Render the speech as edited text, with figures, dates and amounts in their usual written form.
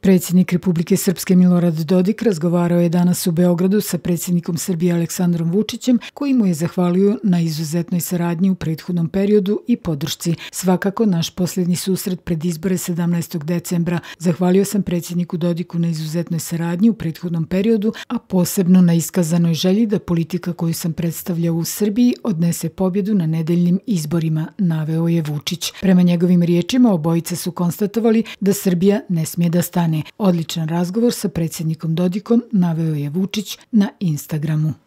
Predsjednik Republike Srpske Milorad Dodik razgovarao je danas u Beogradu sa predsjednikom Srbije Aleksandrom Vučićem, koji mu je zahvalio na izuzetnoj saradnji u prethodnom periodu i podršci. Svakako, naš posljednji susret pred izbore 17. decembra. Zahvalio sam predsjedniku Dodiku na izuzetnoj saradnji u prethodnom periodu, a posebno na iskazanoj želji da politika koju sam predstavljao u Srbiji odnese pobjedu na nedeljnim izborima, naveo je Vučić. Prema njegovim riječima, obojica su konstatovali da Srbija ne smije da stane. Odličan razgovor sa predsjednikom Dodikom, naveo je Vučić na Instagramu.